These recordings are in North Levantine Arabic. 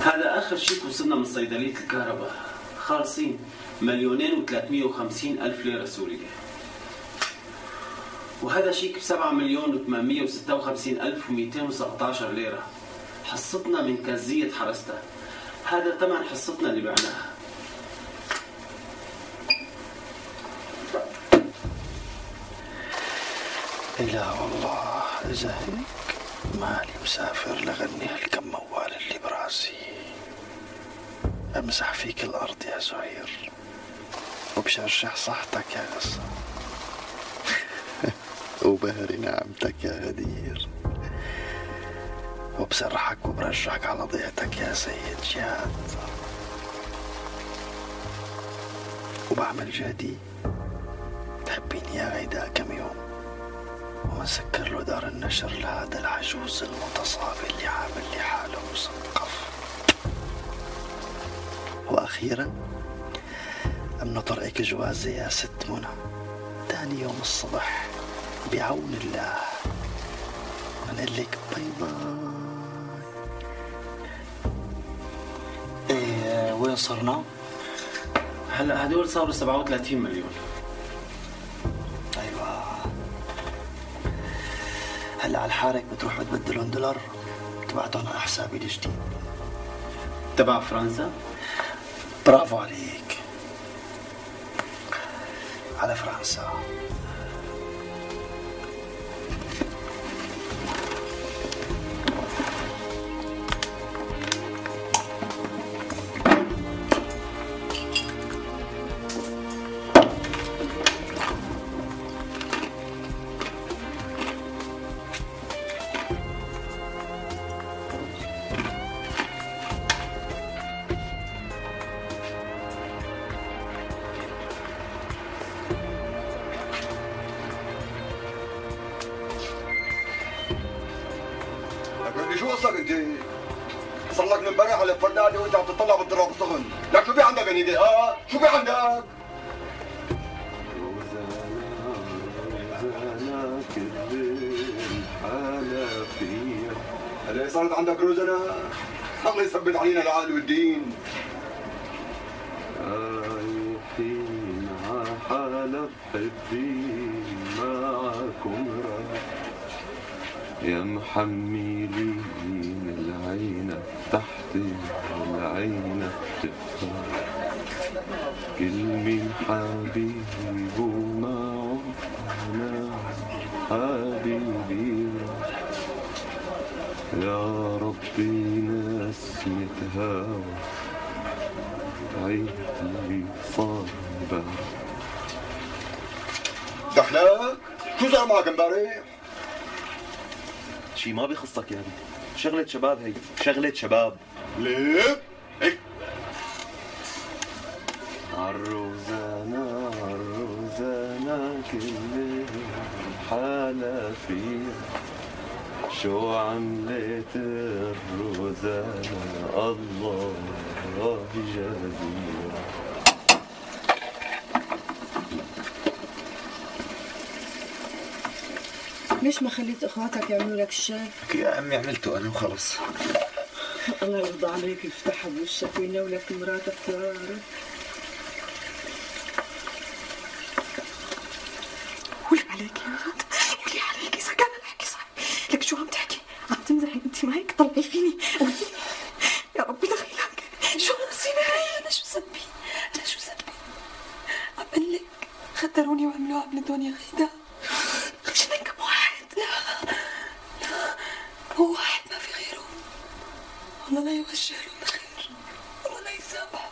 هذا آخر شيك وصلنا من صيدلية الكهرباء، خالصين 2,350,000 ليرة سورية. وهذا شيك ب7,856,217 ليرة، حصتنا من كزية حرستها. هذا ثمن حصتنا اللي بعناها. لا والله إذا هيك مالي مسافر لغني هالكم موال اللي براسي، أمسح فيك الأرض يا زهير وبشرشح صحتك يا قصة وبهري نعمتك يا غدير، وبسرحك وبرجعك على ضيعتك يا سيد جاد، وبعمل جهدي تحبيني يا غيدا كم يوم ومسكر له دار النشر لهذا العجوز المتصابي اللي عامل لي حاله مثقف. وأخيرا أمن طرقك جوازي يا ست منى، تاني يوم الصبح بعون الله بنقول لك باي باي. ايه وين صرنا؟ هلا هدول صاروا 37 مليون. ايوه هلا على الحارك بتروح بتبدلون دولار تبعتهم على حسابي الجديد تبع فرنسا. برافو عليك، على فرنسا. شو قصدك انت؟ صار لك من امبارح على الفردادة وانت عم تطلع بالضرب الصغن، لك شو في عندك هنيدي؟ شو في عندك؟ روزانا كل الحالة فيها هلا صارت عندك روزانا؟ الله يثبت علينا العقل والدين. رايحين ع حالة بحبين معكم يا محملين العينة تحت العينة تفكر كل من حبيبه معه أنا حبيبي يا ربي نسمة هوا عيدي صابر. دخلك؟ شو صار معك امبارح؟ شي ما بيخصك يا ابني، شغلة شباب هي، شغلة شباب. ليه؟ هيك عالروزانا عالروزانا كل حالة فيها شو عملت الروزانا الله جزيلا. ليش ما خليت اخواتك يعملوا لك الشاي؟ يا امي عملته انا وخلص. الله يرضى عليك يفتحها بوشك وينولك مراتك يا رب. قولي عليك يا ولد، قولي عليك اذا كان الحكي صح. لك شو عم تحكي؟ عم تمزحي انت ما هيك؟ طلعي فيني قولي لي يا ربي دخيلك. شو المصيبه هي؟ انا شو ذنبي؟ انا شو ذنبي؟ عم بقول لك خدروني وعملوا عملتهم يا غيدا. هو واحد ما في غيره. الله لا يوجه له الخير، الله لا يسامحه.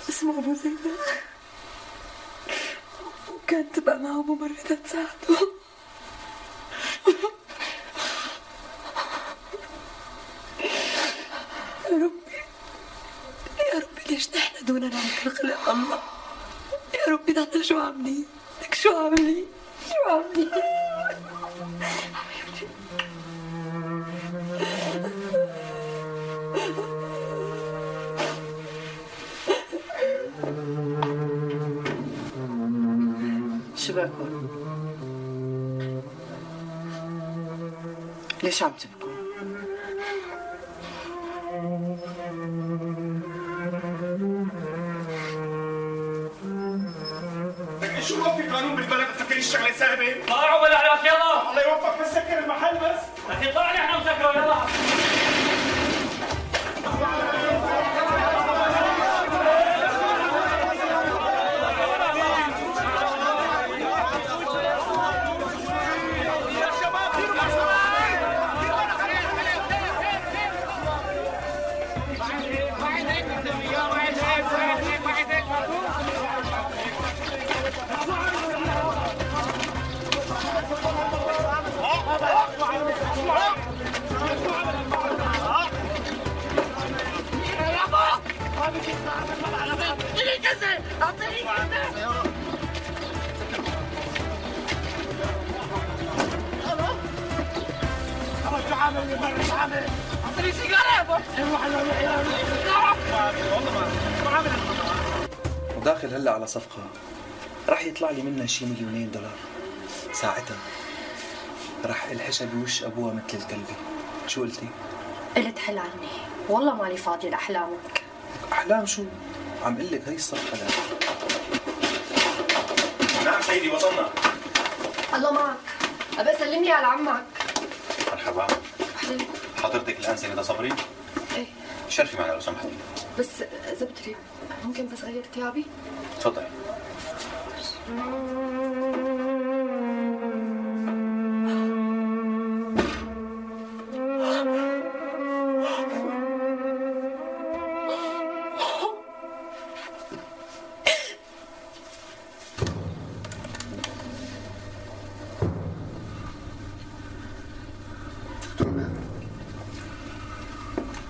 اسمه ابو زيدة وكانت تبقى معه ممرضة تساعده. يا ربي يا ربي ليش نحن دوننا مثل خلق الله؟ يا ربي نحن شو عاملين؟ لك شو عاملين؟ شو عاملين؟ شو باكل؟ ليش عم تبكوا؟ شو ما في قانون بالبلد تفكري الشغله سهله؟ طلعوا بالعراق يلا. الله يوفقك بس سكر المحل بس. اخي طلع لي احنا مسكره يلا. وداخل هلا على صفقة رح يطلع لي منها شي $2,000,000. ساعتها رح الحشها بوش ابوها مثل الكلبة. شو قلتي؟ قلت حل عني، والله مالي فاضية لأحلامك. أحلام شو؟ عم قلك هي الصفقة لها. نعم سيدي وصلنا. الله معك، أبقى سلم لي على عمك. مرحبا. أهلا. حضرتك الآن سيدة صبري؟ إيه. شرفي معنا لو سمحتي. بس زبطري ممكن بس غير ثيابي؟ تفضلي.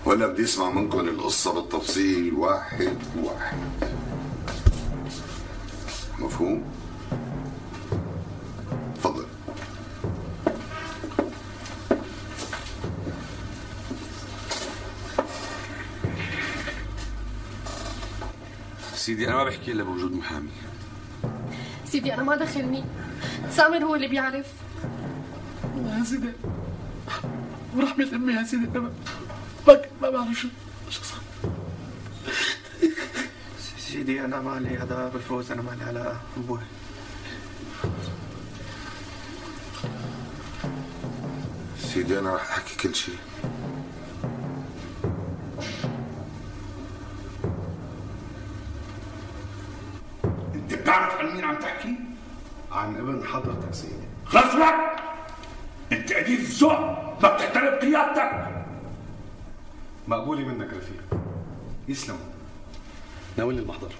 ولا بدي اسمع منكم القصة بالتفصيل واحد واحد. مفهوم؟ تفضل. سيدي أنا ما بحكي إلا بوجود محامي. سيدي أنا ما دخلني، سامر هو اللي بيعرف. يا سيدي ورحمة أمي يا سيدي أنا ما بعرف شو صار. سيدي أنا مالي هذا بالفوز، أنا مالي علاقة أبوي. سيدي أنا رح أحكي كل شيء. أنت بتعرف عن مين عم تحكي؟ عن ابن حضرتك سيدي. خلص لك! أنت قليل الذوق، ما بتحترم قيادتك. مقبولة منك رفيق. يسلم. ناولني المحضر.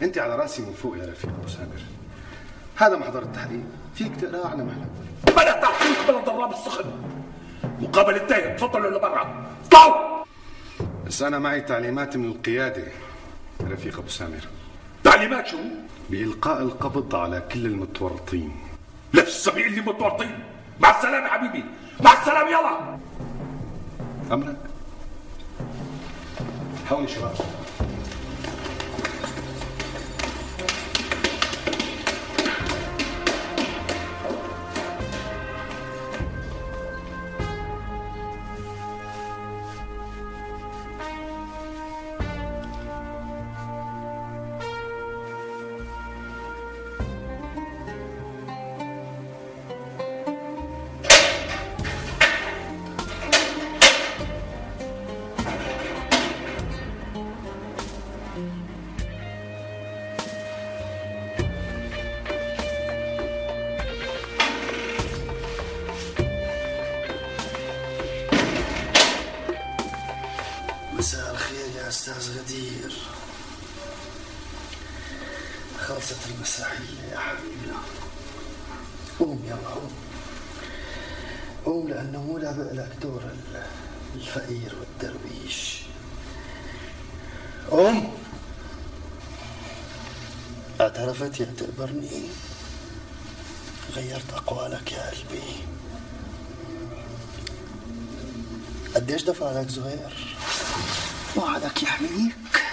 انت على راسي من فوق يا رفيق ابو سامر. هذا محضر التحقيق، فيك تقراه على مهلك. بلا تحقيق بلا ضراب السخن. مقابل التهم، تفضلوا لبرا. طلعوا! بس انا معي تعليمات من القيادة رفيق ابو سامر. تعليمات شو؟ بإلقاء القبض على كل المتورطين. لسه بيقول لي متورطين. مع السلامة حبيبي، مع السلامة يلا. أمرك. حاولي شباب. مساء الخير يا أستاذ غدير. خلصت المسرحية يا حبيبنا. قوم يلا قوم. قوم لأنه مو لابق لك دور الفقير والدرويش. قوم. اعترفت يا تقبرني؟ غيرت أقوالك يا قلبي. قديش دفع لك زهير؟ وعدك يحميك،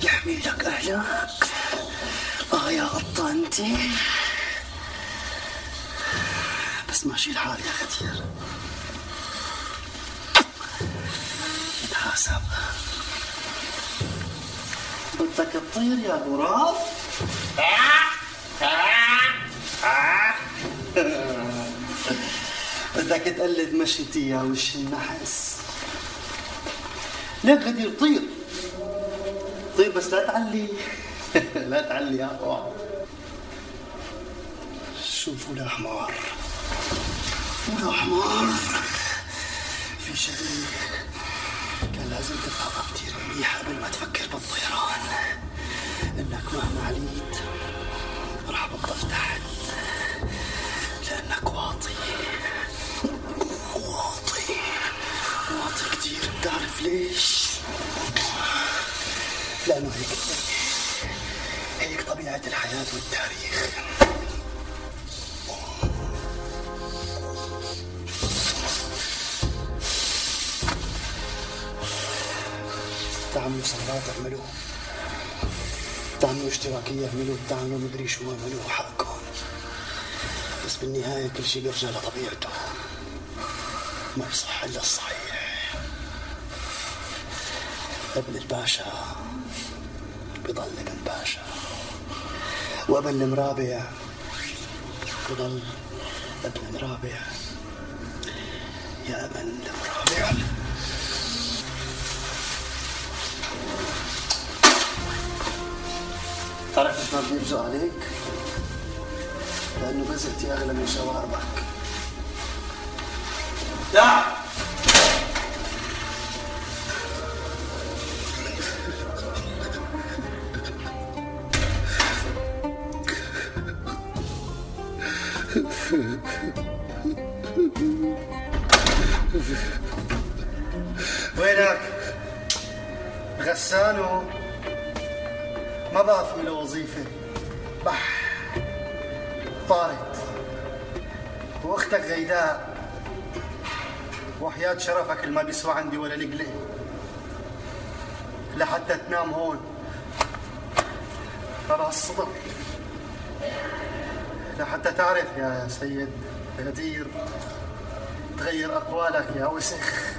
يحمي لك أهلك. يا قطة أنتي. بس ماشي الحال يا غدير. نتحاسب. بدك تطير يا غراب؟ بدك تقلد مشيتي يا وش النحس. ليك غدير طير طير بس لا تعلي لا تعلي يا طوع. شوفوا الحمار ولا حمار، في شغله كان لازم تفهمها كتير منيح قبل ما تفكر بالطيران، انك مهما عليت رح بتضل تحت لانك واطي واطي واطي كتير. بتعرف ليش؟ لانه هيك طبيعة الحياة والتاريخ. تعملوا ثورات اعملوا، تعملوا اشتراكية اعملوا، تعملوا مدري شو اعملوا، حقكم. بس بالنهاية كل شيء بيرجع لطبيعته، ما بصح إلا الصحيح. ابن الباشا بضل ابن باشا، وابن المرابع بضل ابن مرابع. يا ابن المرابع تعرف ليش ما بدي ابزق عليك؟ لأنه بزقتي أغلى من شواربك. لا وينك؟ غسانو ما بقى في له وظيفة، بح طارت. واختك غيداء وحياة شرفك اللي ما بيسوى عندي ولا لقلة لحتى تنام هون ترى الصدق، لحتى تعرف يا سيد غدير تغير أقوالك يا وسخ.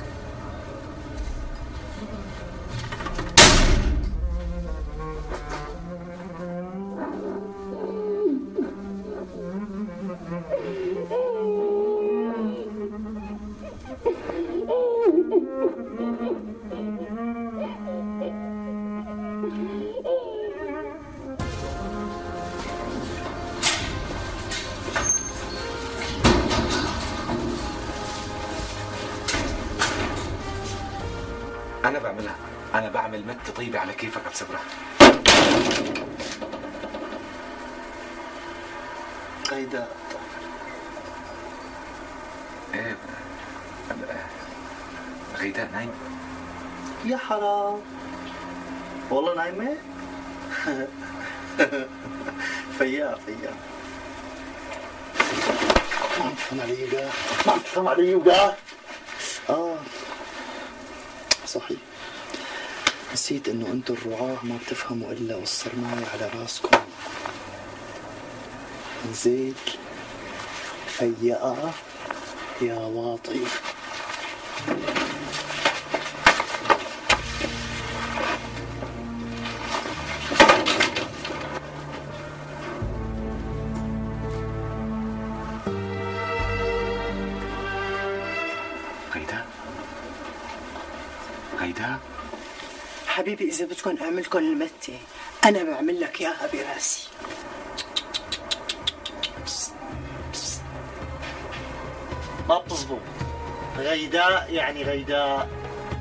أنا بعملها، أنا بعمل مت طيبة على كيفك يا بسبرة. غيداء إيه غيداء نايم؟ يا حرام والله نايمة؟ فيا ما عم تفهم علي وقاه، ما عم تفهم علي وقاه. صحيح نسيت انه انتو الرعاة ما بتفهموا الا والصرماية على راسكم. نزيل فيا يا واطي. غيداء حبيبي إذا بدكم أعملكم المتة أنا بعمل لك إياها براسي. ما بتزبط. غيداء يعني غيداء.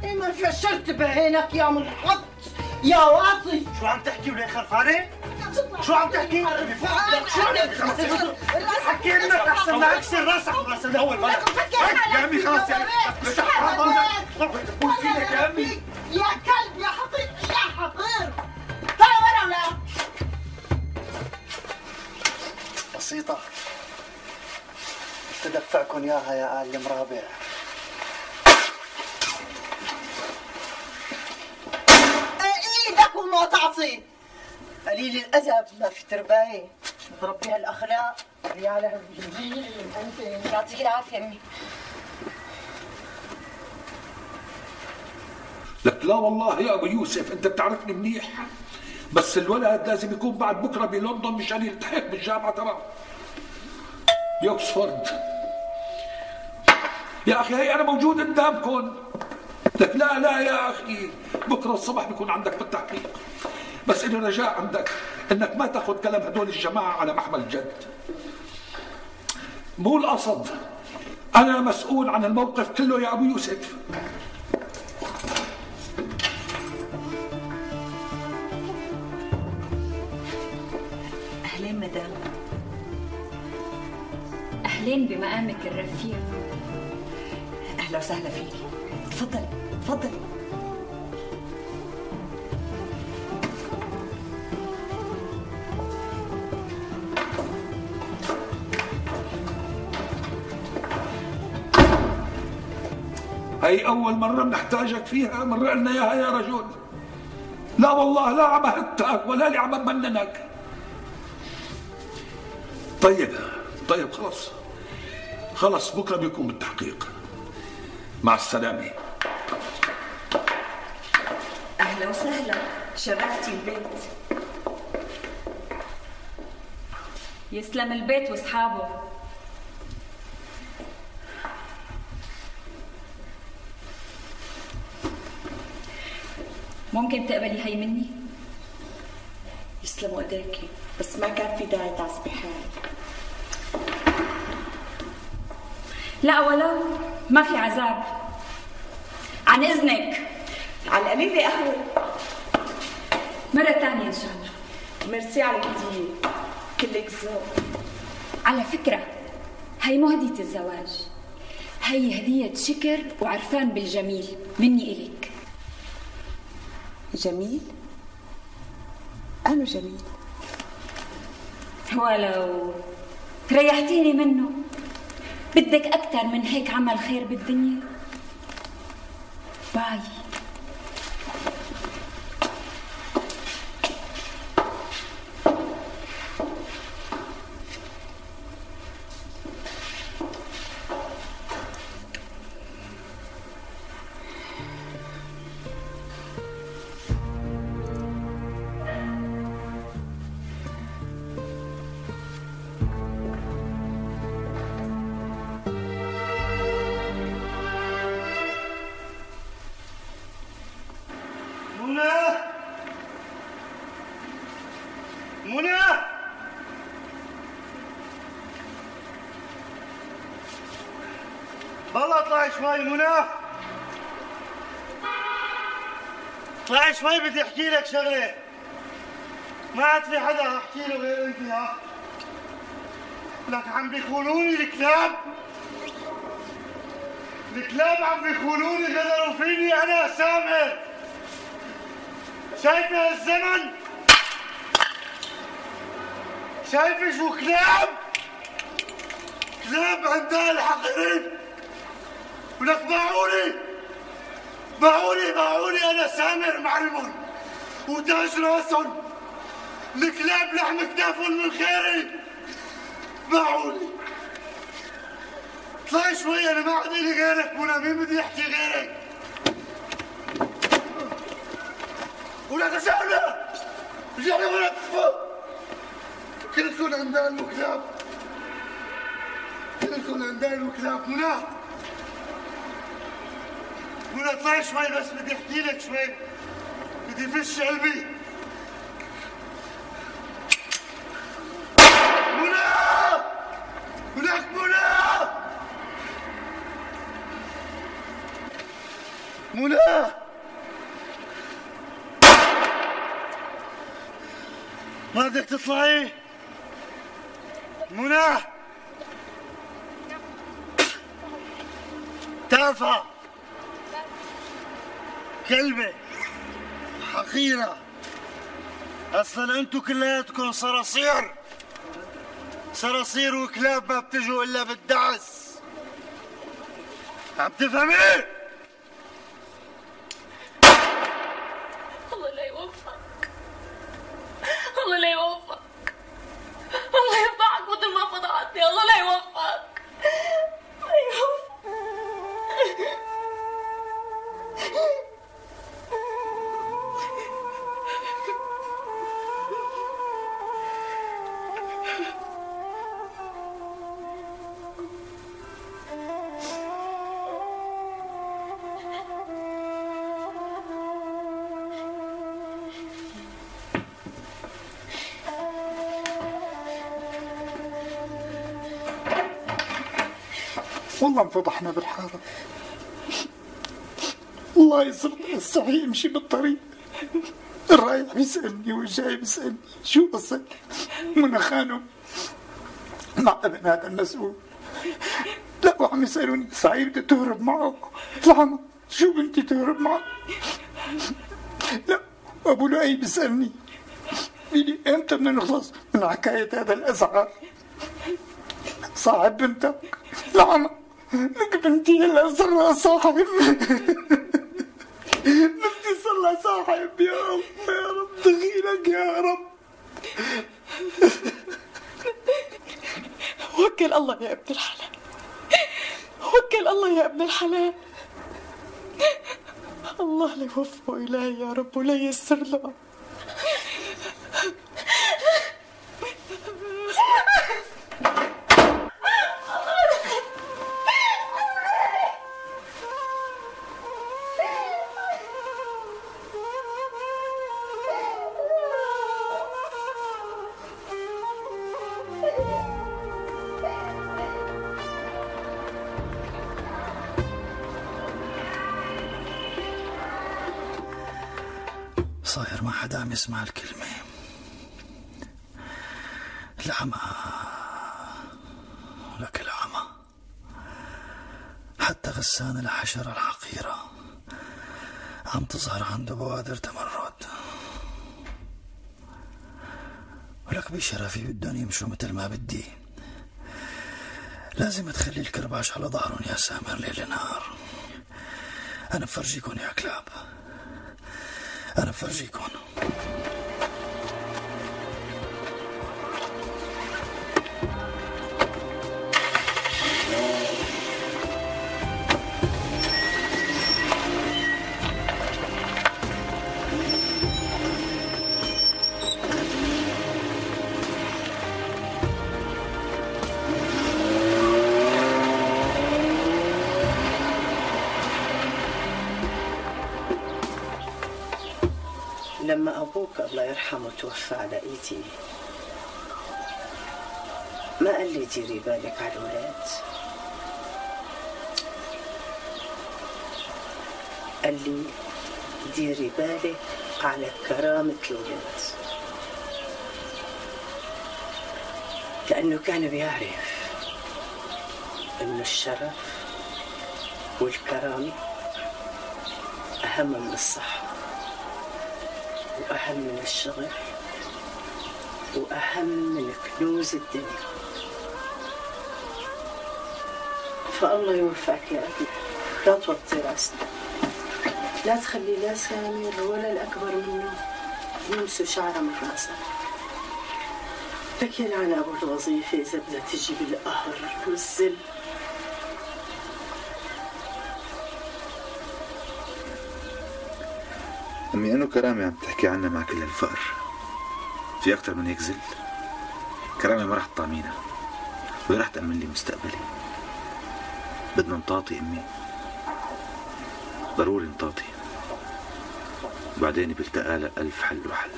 ما فشلت بعينك يا منحط يا واطي. شو عم تحكي وليه خرفانة؟ شو عم تحكي؟ حكي منك احسن ما اكسر راسك وراس الاول مالك. يا عمي خلاص يعني بوسيلك يا عمي. يا كلب يا حقير يا حقير. تعال ورا ولا بسيطة تدفعكم اياها يا آل المرابع. ايدك وما تعطي. قليل الادب ما في تربايه. بربي هالاخلاق يا على الجميل انت. يعطيك العافيه امي. لك لا والله يا ابو يوسف انت بتعرفني منيح، بس الولد لازم يكون بعد بكره بلندن مشان يلتحق بالجامعه تبعه بأوكسفورد. يا اخي هي انا موجود قدامكم. لك لا يا اخي، بكره الصبح بيكون عندك بالتحقيق. بس إلي رجاء عندك انك ما تاخذ كلام هدول الجماعه على محمل جد. مو القصد، انا مسؤول عن الموقف كله يا ابو يوسف. اهلين مدام. اهلين بمقامك الرفيع. اهلا وسهلا فيكي. تفضلي تفضلي. هي أول مرة بنحتاجك فيها، مرة لنا إياها يا رجل. لا والله لا عم أهتك ولا لي عم أمننك. طيب خلص بكرة بيكون بالتحقيق. مع السلامة. أهلا وسهلا، شرفتي البيت. يسلم البيت واصحابه. ممكن تقبلي هي مني؟ يسلموا ايديكي، بس ما كان في داعي تعصبي حالك. لا ولو ما في عذاب. عن اذنك. على القليل قهوة. مرة ثانية ان شاء الله. ميرسي على الهدية، كلك ذوق. على فكرة هي مو هدية الزواج، هي هدية شكر وعرفان بالجميل مني إلك. جميل؟ أنا جميل. ولو ريحتيني منه. بدك أكثر من هيك عمل خير بالدنيا؟ باي. منى بالله اطلعي شوي منى، اطلعي شوي بدي احكي لك شغله. ما عاد في حدا احكي له غير انت. ها لك عم بيخونوني الكلاب عم بيخونوني، غدروا فيني انا سامر. شايفه الزمن؟ شايفه شو كلاب عندها الحقيرين. ولك باعوني انا سامر معلمون وتاج راسهم. الكلاب لحم كتافهم من خيري باعوني. اطلعي شوي، انا ما عاد لي غيرك منى، مين بدي يحكي غيرك؟ ولك رجعنا ولا تفوق. كلكم عندنا الكلاب، منى اطلعي شوي بس بدي احكي لك شوي، بدي فش قلبي. منى ما بدك تطلعي؟ منى تافهة كلبة حقيرة. اصلا انتو كلياتكم صراصير وكلاب ما بتجوا الا بالدعس. عم تفهمي؟ الله لا يوفقك، الله لا يوفقك، الله يفضحك مثل ما فضحتني. الله لا يوفقك، لا يوفقك. والله انفضحنا بالحارة. الله يسر الصحي يمشي بالطريق، الرايح بيسألني والجاي بيسألني شو قصة منى خانم مع ابن هذا المسؤول. لا وعم يسألوني صحيح بدها تهرب معه؟ العمى شو بنتي تهرب معه؟ لا ابو لؤي بيسألني بيقول لي امتى بدنا نخلص من حكاية هذا الازعار صاحب بنتك؟ العمى لك بنتي هلا صار لها صاحب. بنتي صار لها صاحب. يا رب يا رب دخيلك يا رب. وكل الله يا ابن الحلال، وكل الله يا ابن الحلال. الله لا يوفقه إلهي يا رب ولا ييسر له. صاير ما حدا عم يسمع الكلمة. العمى لك العمى، حتى غسان الحشرة الحقيرة عم تظهر عنده بوادر تمرد. ولك بشرفي بدهم يمشوا مثل ما بدي، لازم تخلي الكرباش على ظهرهم يا سامر ليل نهار. أنا بفرجيكم يا كلاب، أنا بفرجيكم. لما أبوك الله يرحمه توفى على إيدي ما قال لي ديري بالك على الولاد، قال لي ديري بالك على كرامة الولاد، لأنه كان بيعرف إنه الشرف والكرامة أهم من الصحة وأهم من الشغل وأهم من كنوز الدنيا. فالله يوفقك يا أبي، لا توطي راسنا، لا تخلي لا سامر ولا الأكبر منه يمسوا شعره من راسك. لك يلعن أبو الوظيفة إذا بدها تجيب القهر والذل. أمي أنه كرامة عم تحكي عنها مع كل الفقر، في أكتر من هيك ذل؟ كرامة ما رح تطعمينا ولا رح تأمن لي مستقبلي. بدنا نطاطي أمي، ضروري نطاطي، وبعدين بيلتقى لها ألف حل وحل.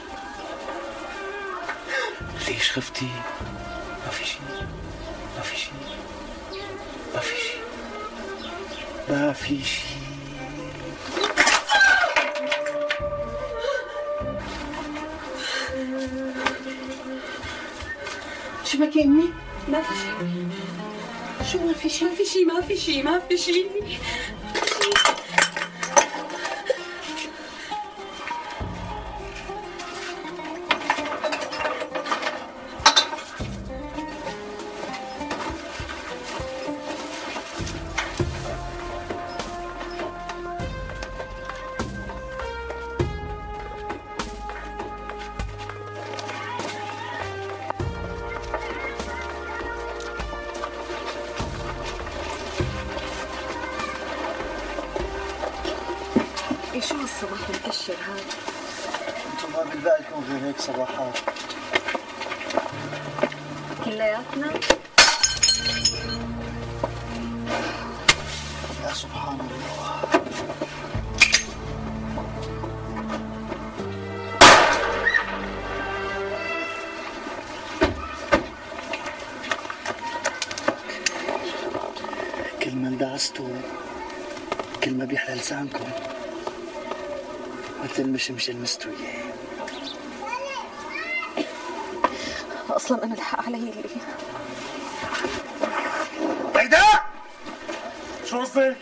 ليش خفتي؟ ما في شيء، ما في شيء، ما في شيء، ما في شيء. شو بكي أمي؟ ما في شيء. شو ما في شيء؟ ما في شيء، ما في شيء، ما في شيء. شو هالصباح المكشر هذا؟ انتم ما بالبالكم غير هيك صباحات كلياتنا؟ يا سبحان الله. كل انتوا كل ما بيحلى لسانكم مثل المشمش المستوية. اصلا انا الحق علي اللي هيدا شو قصدك؟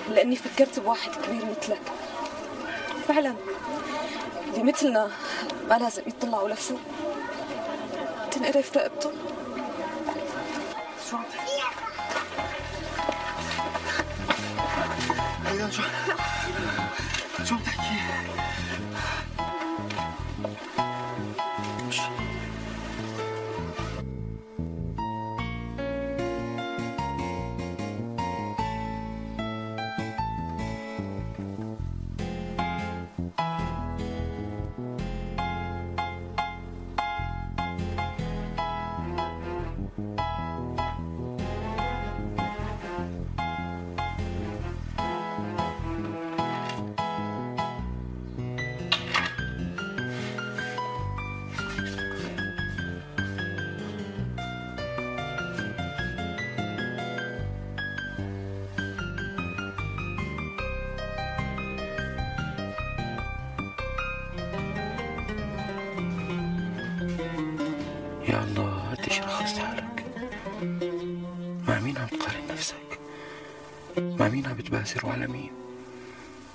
لاني فكرت بواحد كبير مثلك فعلا، اللي مثلنا ما لازم يطلعوا لفوق، تنقرف رقبته. شو عم هيدا شو عم تحكي؟ يا الله قديش رخصت حالك. مع مين عم تقارن نفسك؟ مع مين عم بتباسر وعلى مين؟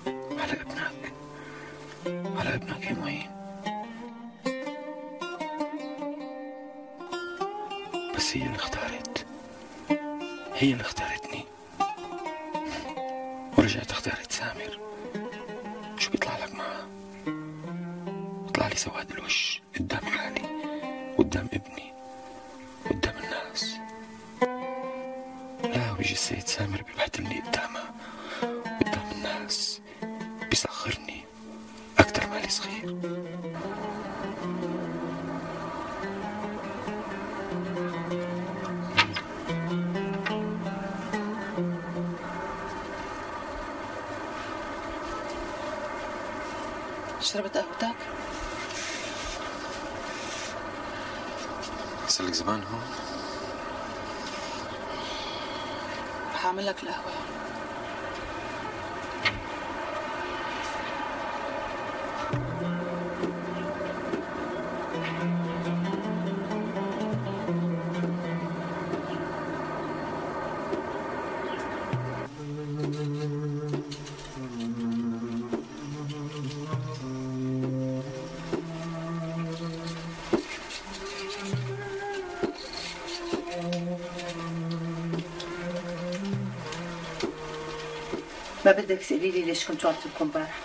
على ابنك، على ابنك يا معين. بس هي اللي اختارت، هي اللي اختارتني ورجعت اختارت سامر. شو بيطلع لك معها؟ بيطلع لي سواد الوش قدام حالي، قدام ابني، قدام الناس. لا بيجي السيد سامر بيبهدلني قدامها، قدام الناس، بيسخرني أكتر مالي صغير. شربت قهوتك؟ صار لك زمان هون؟ رح أعمل لك القهوة. ما بدك تقولي لي ليش كنتوا عم تبكوا امبارح؟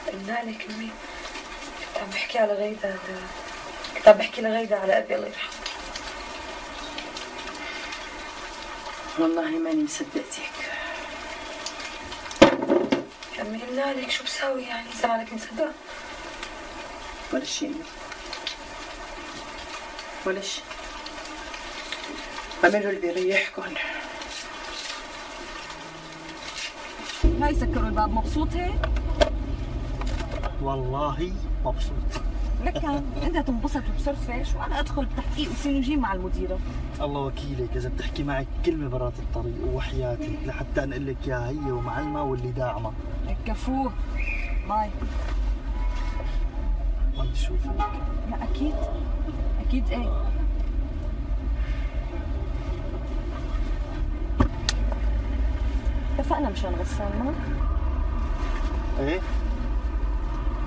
قلنا لك امي، كنت عم بحكي على غيدا، كنت عم بحكي لغيدا على ابي الله يرحمه. والله ماني مصدقتك. امي قلنا لك شو بساوي يعني اذا مالك مصدقه؟ ولا شيء ولا شيء، اعملوا اللي بيريحكم. هاي سكروا الباب. مبسوط هيك؟ والله مبسوط. لك انت تنبسط وتصرفش وانا ادخل بتحقيق وسين وجيم مع المديره. الله وكيلك اذا بتحكي معك كلمه برات الطريق وحياتك لحتى انقل لك اياها هي ومعلمه واللي داعمه. لك كفوه باي. ما بدي اشوفك. لا اكيد اكيد. ايه اتفقنا مشان غسان ما؟ ايه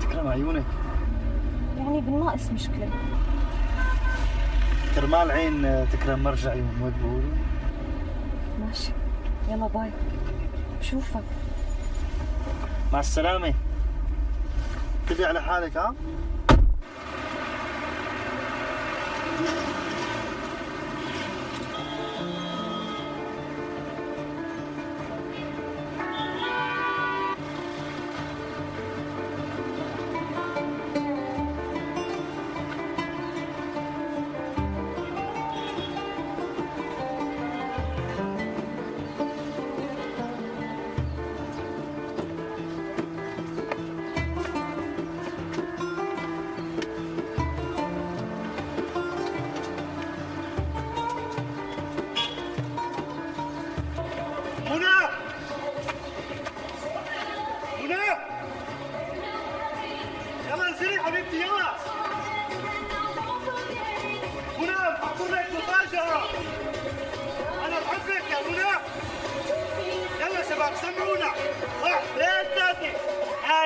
تكرم عيونك. يعني بالناقص مشكلة. كرمال عين تكرم مرجع عيون، ما بقولوا؟ ماشي يلا باي، بشوفك. مع السلامة. تبي على حالك ها؟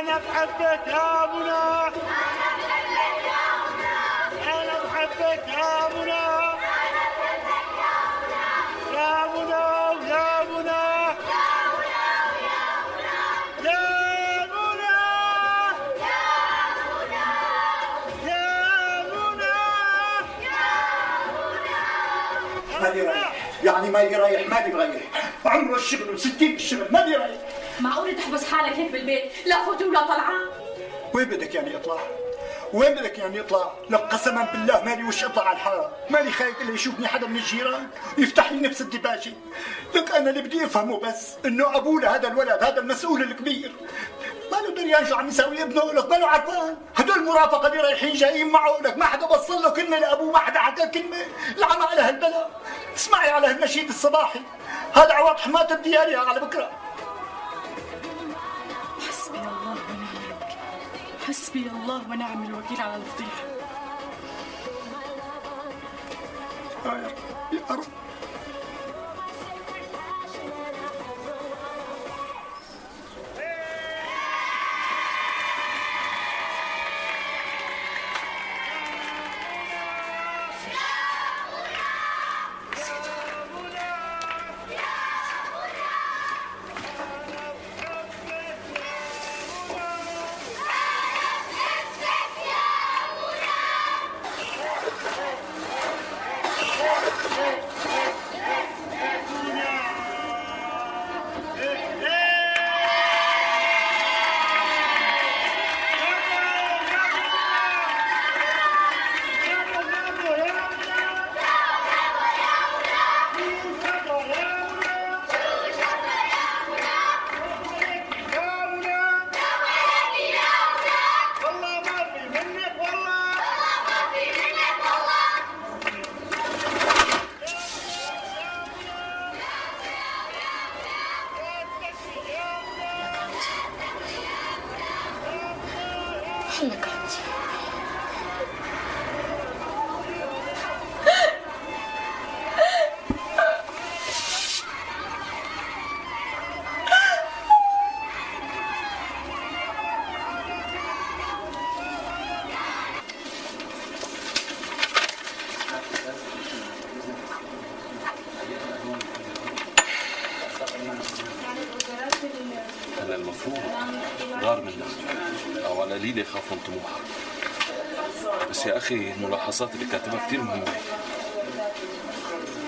أنا بحبك يا منى، أنا بحبك يا منى، يا منى ويا منى، يا منى، يا منى. مالي رايح، يعني مالي رايح، مالي رايح. عمره الشغل و60 بالشغل، مالي رايح. معقول تحبس حالك هيك بالبيت لا فوت ولا طلعان؟ وين بدك يعني اطلع؟ وين بدك يعني اطلع؟ لك قسما بالله مالي وش اطلع على الحاره، مالي خايف الا يشوفني حدا من الجيران يفتح لي نفس الدباجه. لك انا اللي بدي افهمه بس انه ابونا هذا الولد، هذا المسؤول الكبير ما له دريان شو عم يساوي ابنه، لك ما له عرفان. هدول المرافقه اللي رايحين جايين معه، لك ما حدا بصل له كلمه لابوه، ما حدا حكى كلمه لعم على هالبلا. اسمعي على هالنشيد الصباحي، هذا عوض حماة الديارية على بكره. حسبي الله ونعم الوكيل، حسبي الله ونعم الوكيل على الفضيحة. يا رب. هلا المفروض غار منك او على قليله يخاف من طموحك. بس يا اخي الملاحظات اللي كاتبها كثير مهمه.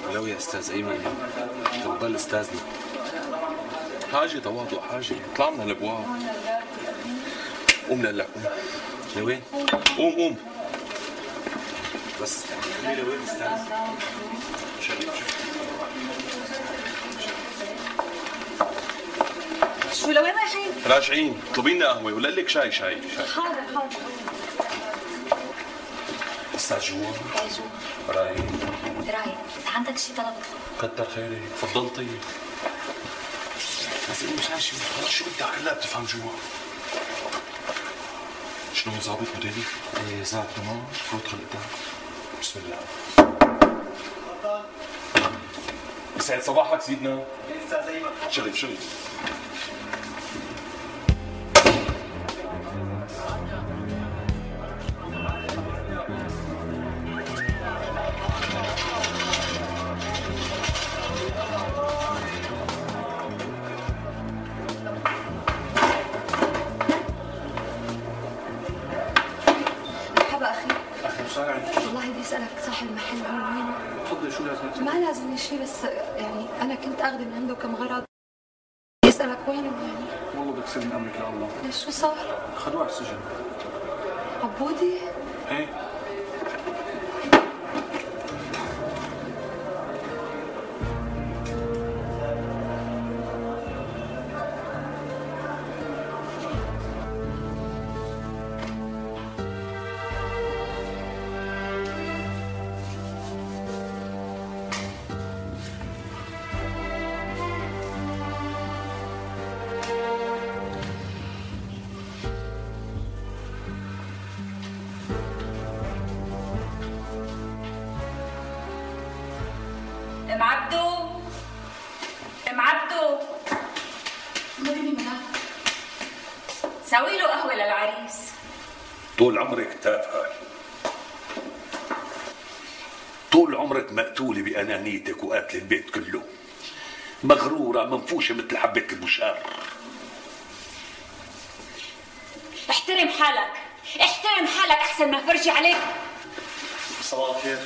ولو يا استاذ ايمن انت بتضل استاذنا. حاجه تواضع، حاجه اطلع من الابواب. قوم لهلا قوم. لوين؟ قوم قوم. بس خلي لوين استاذ؟ شو لوين رايحين؟ راجعين، اطلبي لنا قهوه ولا لك شاي. شاي حاضر حاضر. استاذ جوا؟ رايق اذا عندك شيء طلب كتر خيرك، تفضل. طيب بس مش ماشي خلص، شو بدك هلا بتفهم جوا؟ شنو ظابط مديري؟ ايه ظابط تمام، فوت قدام. بسم الله. يسعد صباحك سيدنا. استاذ ايمن. شرف. والله بدي اسالك صاحب المحل وين؟ تفضلي. شو لازم؟ ما لازم شيء، بس يعني انا كنت اخذ من عنده كم غرض. بدي اسالك وينه يعني؟ والله بدك تسلم امرك لله. ليش شو صار؟ خدوه على السجن. عبودي؟ ايه. سوي له قهوة للعريس. طول عمرك تافهة، طول عمرك مقتولة بأنانيتك وقاتل البيت كله، مغرورة منفوشة مثل حبة المشار. احترم حالك، احترم حالك أحسن ما فرجي عليك. صباح الخير.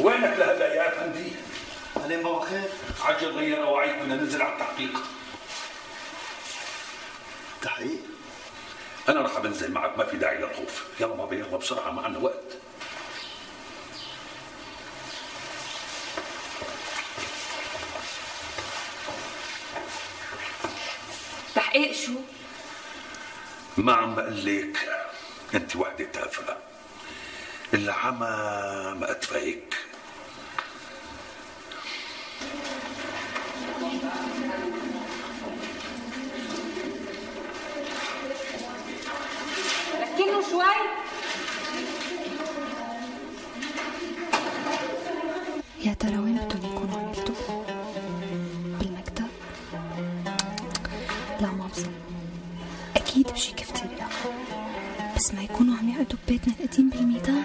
وينك لهلا يا أفندي؟ أهلين بابا خير. عجل غير أواعيك، بدنا ننزل على التحقيق. تحقيق؟ أنا رح بنزل معك، ما في داعي للخوف. يلا بابا يلا بسرعة، ما عنا وقت. تحقيق شو؟ ما عم بقول لك أنت وحدة تافهة، العمى ما أتفهيك. ركنوا شوي. يا ترى وين بدهم يكونوا عملتوا؟ بالمكتب؟ لا ما بظن، أكيد بشي كافتيريا، بس ما يكونوا عم يقعدوا ببيتنا القديم بالميدان.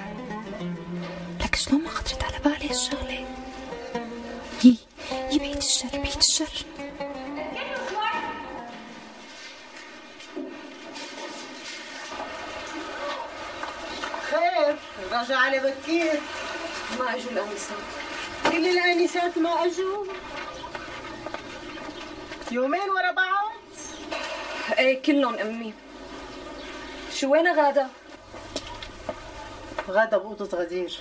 لك شلون ما خطرت على بالي هالشغلة؟ يي بعيد الشر، بعيد الشر. خير، رجع على بكير. ما اجوا الانسات. كل الانسات ما اجوا؟ يومين ورا بعض؟ ايه كلهم امي. شو وين غادة؟ غادة بأوضة غدير.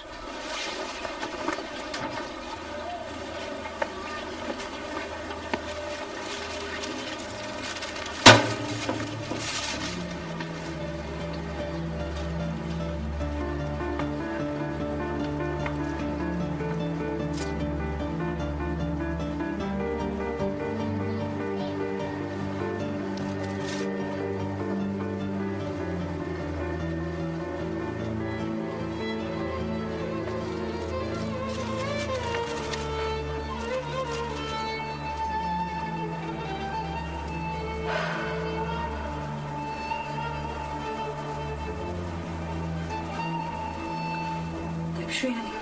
شو يعني؟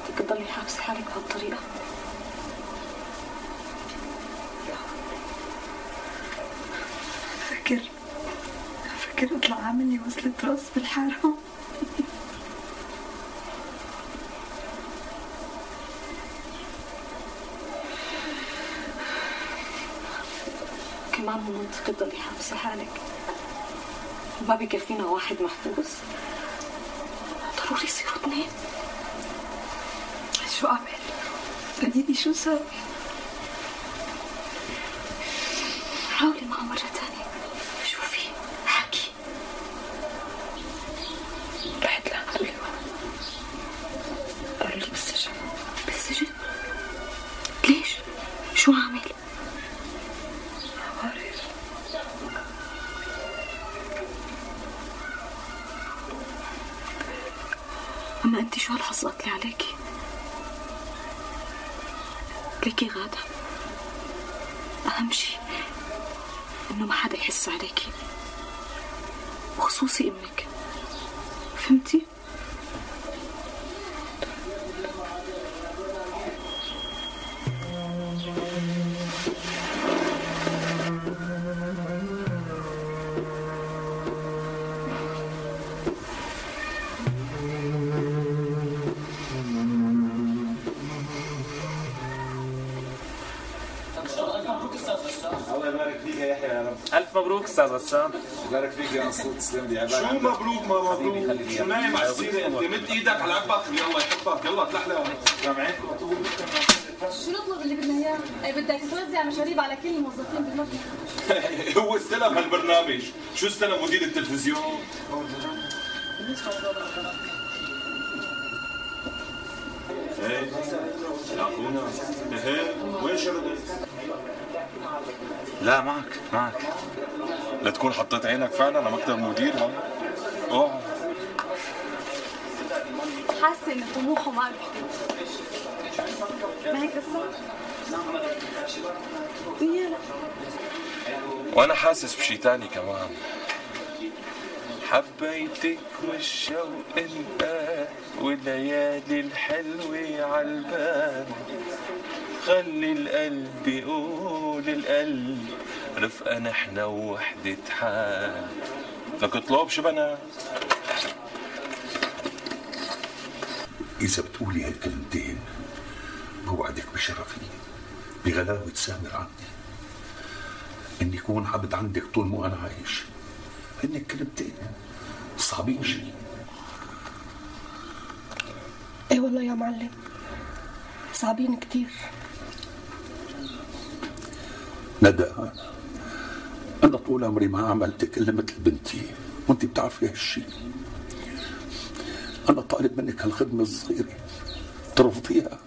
بدك تضلي حابسة حالك بهالطريقة؟ فكر اطلع عاملني وصلة راس بالحارة. كمان مو منطقي تضلي حابسة حالك، ما بكفينا واحد محبوس، ضروري يصيروا اثنين. شو أعمل؟ بديني شو سوي؟ حاولي معه مرة تانية، شوفي حكي. رحت لعنده اليوم، قالوا لي بالسجن. بالسجن؟ ليش؟ شو عامل؟ ما بعرف. أما أنت شو هالحظ قتلي عليكي؟ ليكي غادة، أهم شي إنه ما حدا يحس عليكي، وخصوصي أمك، فهمتي؟ الله يبارك فيك يا يحيى يا رب. الف مبروك استاذ غسان. يبارك فيك يا نصوت، تسلم لي. شو مبروك ما مبروك؟ شو نايم على السيره انت؟ مد ايدك على قلبك، الله يحبك، يلا تلحلى. سامعينكم طول. شو نطلب اللي بدنا اياه؟ اي بدك توزع مشاريب على كل الموظفين بالمكتب. هو استلم هالبرنامج، شو استلم مدير التلفزيون؟ ايه يا اخونا، ايه وين شردت؟ لا معك لا تكون حطيت عينك فعلا على مكتب المدير. ها اوعى. حاسه ان طموحه ما بيحتاج، ما هيك قصة؟ وانا حاسس بشي تاني كمان. حبيتك والشوق انقال والليالي الحلوة عالبال، خلي القلب يقول القلب رفقة نحنا ووحدة حال. لك اطلب شو بنات. إذا بتقولي هالكلمتين بوعدك بشرفي بغلاوة سامر عندي إني يكون عبد عندك طول ما أنا عايش. هن كلمتين صعبين شي. ايه والله يا معلم صعبين كتير. ندى، أنا طول عمري ما عملتك إلا مثل بنتي وأنت بتعرفي هالشي. أنا طالب منك هالخدمة الصغيرة ترفضيها.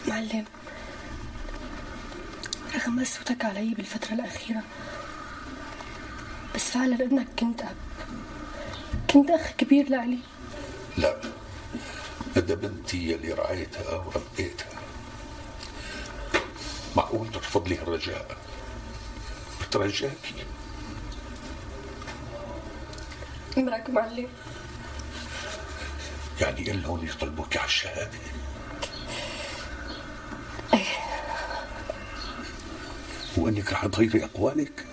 معلم رغم قسوتك علي بالفترة الأخيرة بس فعلا ابنك كنت أب، كنت أخ كبير لإلي. لا، ندى بنتي يلي رعيتها وربيتها. معقول ترفض لي الرجاء؟ بترجاكي. امرك معلم. يعني إلهم يطلبوك على الشهادة؟ ايه. وإنك رح تغيري أقوالك؟